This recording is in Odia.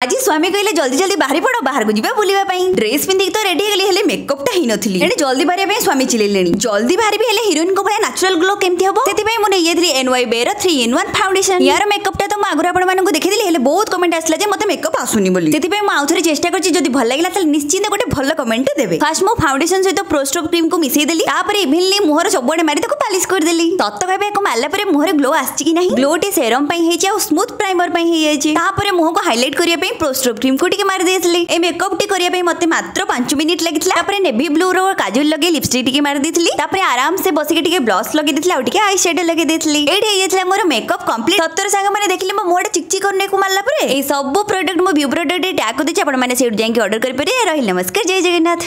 ଆଜି ସ୍ୱାମୀ କହିଲେ, ଜଲ୍ଦି ଜଲ୍ଦି ବାହାରି ପଡ, ବାହାରକୁ ଯିବା ବୁଲିବା ପାଇଁ। ଡ୍ରେସ୍ ପିନ୍ଧିକି ତ ରେଡି ହେଇଗଲି, ହେଲେ ମେକଅପ୍ ଟା ହେଇନଥିଲି। ଏଣେ ଜଲ୍ଦି ବାହାରିବା ପାଇଁ ସ୍ୱାମୀ ଚିଲେଇଲେଣି। ଜଲ୍ଦି ବାହାରିବି, ହେଲେ ହିରୋଇନଙ୍କ ଭଳିଆ ନାଚୁରାଲ ଗ୍ଲୋ କେମିତି ହବ? ସେଥିପାଇଁ ମୁଁ ନେଇଯାଇଥିଲି ଏନ୍ ୱାଇ ବେର 3 ଇନ୍ 1 ଫାଉଣ୍ଡେସନ। ୟାର ମେକଅପ୍ ଟା ତ ମୁଁ ଆଗରୁ ଆପଣମାନଙ୍କୁ ଦେଖିଥିଲି, ହେଲେ ବହୁତ କମେଣ୍ଟ ଆସିଲା ଯେ ମତେ ମେକଅପ୍ ଆସୁନି ବୋଲି। ସେଥିପାଇଁ ମୁଁ ଆଉଥରେ ଚେଷ୍ଟା କରିଛି। ଯଦି ଭଲ ଲାଗିଲା, ତାହେଲେ ନିଶ୍ଚିନ୍ତ ଗୋଟେ ଭଲ କମେଣ୍ଟ ଦେବେ। ଫାର୍ଷ୍ଟ ମୁଁ ଫାଉଣ୍ଡେସନ ସହିତ ପ୍ରୋଷ୍ଟୋପ କ୍ରିମ୍ କୁ ମିଶେଇ ଦେଲି। ତାପରେ ଇଭେନଲି ମୁହଁର ସବୁଆଡେ ମାରି ତାକୁ ପାଲିଶ କରିଦେଲି। ସତ କହିବେ, ଏହାକୁ ମାରିଲା ପରେ ମୁହଁରେ ଗ୍ଲୋ ଆସିଛି କି ନାହିଁ? ଗ୍ଲୋ ଟି ସେରମ୍ ପାଇଁ ହେଇଛି ଆଉ ସ୍ମୁଥ ପ୍ରାଇମର ପାଇଁ ହେଇଯାଇଛି। ତାପରେ ମୁହଁକୁ ହାଇଲାଇଟ୍ କରିବା ପାଇଁ ପ୍ରୋଷ୍ଟ୍ରୋପ କ୍ରିମ୍ କୁ ଟିକେ ମାରି ଦେଇଥିଲି। ଏ ମେକଅପ୍ ଟି କରିବା ପାଇଁ ମତେ ମାତ୍ର 5 ମିନିଟ୍ ଲାଗିଥିଲା। ତାପରେ ନେଭି ବ୍ଲୁ ର କାଜଲ ଲଗେଇ ଲିପଷ୍ଟିକ୍ ଟିକେ ମାରି ଦେଇଥିଲି। ତାପରେ ଆରାମସେ ବସିକି ଟିକେ ବ୍ଲସ୍ ଲଗେଇ ଦେଇଥିଲି ଆଉ ଟିକେ I shadow ଲଗେଇ ଦେଇଥିଲି। ଏଇଠି ହେଇଯାଇଥିଲା ମୋର ମେକଅପ୍ କମ୍ପ୍ଲିଟ୍। ସତରେ ସାଙ୍ଗମାନେ, ଦେଖିଲେ ମୋ ମୁହଁଟା ଚିକ୍ ଚିକ୍ କରୁନି ମାରିଲା ପରେ? ଏଇ ସବୁ ପ୍ରଡକ୍ଟ ମୁଁ ଭ୍ୟୁ ପ୍ରଡକ୍ଟ ଟ୍ୟାଗ୍ କରିଦେଇଛି, ଆପଣମାନେ ସେଇଠୁ ଯାଇକି ଅର୍ଡର କରିପାରିବେ। ରହିଲି, ନମସ୍କାର, ଜୟ ଜଗନ୍ନାଥ।